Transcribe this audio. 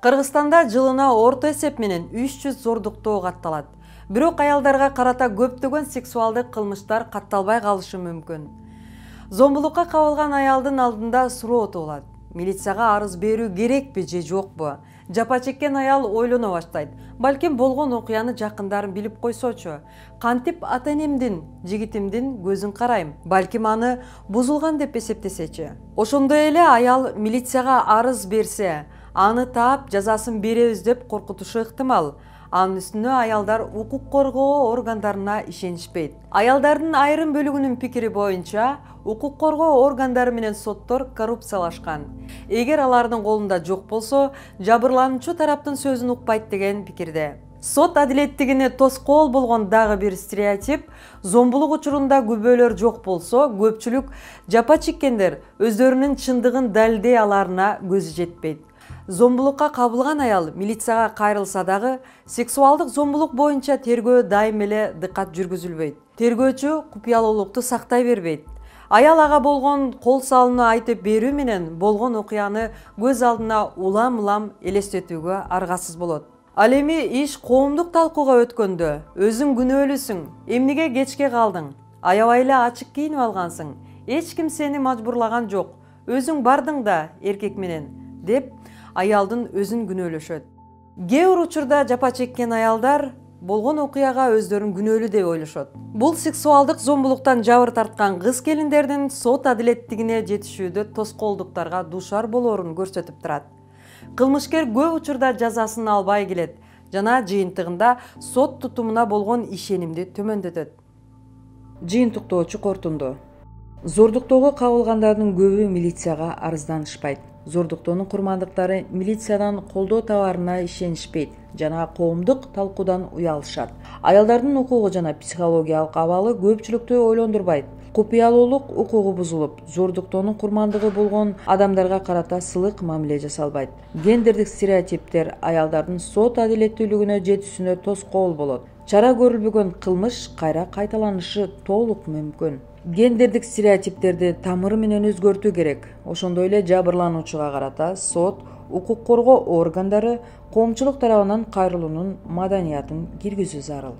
Кыргызстанда жылына орто эсеп менен 300 зордуктоо катталат. Бирок аялдарга карата көптөгөн сексуалдык кылмыштар катталбай калышы мүмкүн. Зомбулукка кабылган аялдын алдында суроо болот. Милицияга арыз берүү керекпи же жокпу? Жапа чеккен аял ойлоно баштайт. Балким болгон окуяны жакындарын билип койсочу. Кантип ата-энемдин, жигитимдин көзүн карайм. Балким аны бузулган деп эсептесечи. Ошондой эле аял милицияга арыз берсе, аны таап жазасын беребиз деп коркутушу ыктымал. Анын үстүнө аялдар укук коргоо органдарына ишенишпейт. Аялдардын айрым бөлүгүнүн пикири боюнча, укук коргоо органдары менен соттор коррупциялашкан. Эгер алардын колунда жок болсо, жабырлануучу тараптын сөзүн укпайт деген пикирде. Сот адилеттигине тоскоол болгон дагы бир стереотип, зомбулук учурунда күбөлөр жок болсо, көпчүлүк жапа чеккендер өздөрүнүн чындыгын далилдей аларына көзү жетпейт. Зомбулукка кабылган аял милицияга кайрылса дагы, сексуалдык зомбулук боюнча тергөө дайым эле дыккат жүргүзүлбөйт. Тергөөчү купуялуулукту сактай бербейт. Аял ага болгон кол салууну айтып берүү менен болгон окуяны көз алдына улам-улам элестетүүгө аргасыз болот. Ал эми иш коомдук талкууга өткөндө, өзүң күнөөлүүсүң, эмнеге кечке калдың? Аябай эле ачык кийинип алгансың. Эч ким сени мажбурлаган жок. Өзүң бардың да эркек менен, деп аялдын өзүн күнөөлөшөт. Кээ бир учурда жапа чеккен аялдар болгон окуяга өздөрүн күнөөлүү деп ойлошот. Бул сексуалдык зомбулуктан жабыр тарткан кыз келиндердин сот адилеттигине жетишүүдө тоскоолдуктарга дуушар болоорун көрсөтүп турат. Кылмышкер көп учурда жазасын албай келет жана жыйынтыгында сот тутумуна болгон ишенимди төмөндөтөт. Жыйынтыктоочу корутунду. Зордуктоого кабылгандардын көбү милицияга арызданышпайт. Зордуктоонун курмандыктары милициядан колдоо табарына ишенишпейт жана коомдук талкуудан уялышат. Аялдардын укугу жана психологиялык абалы көпчүлүктү ойлондурбайт. Купуялуулук укугу бузулуп, зордуктоонун курмандыгы болгон адамдарга карата сылык мамиле жасалбайт. Гендердик стереотиптер аялдардын сот адилеттүүлүгүнө жетүүсүнө тоскоол болот. Чара көрүлбөгөн кылмыш кайра кайталанышы толук мүмкүн. Гендердик стереотиптерди тамыры менен өзгөртүү керек. Ошондой эле жабырлануучуга карата сот, укук коргоо органдары коомчулук тарабынан кайрылуунун маданиятын киргизүү зарыл.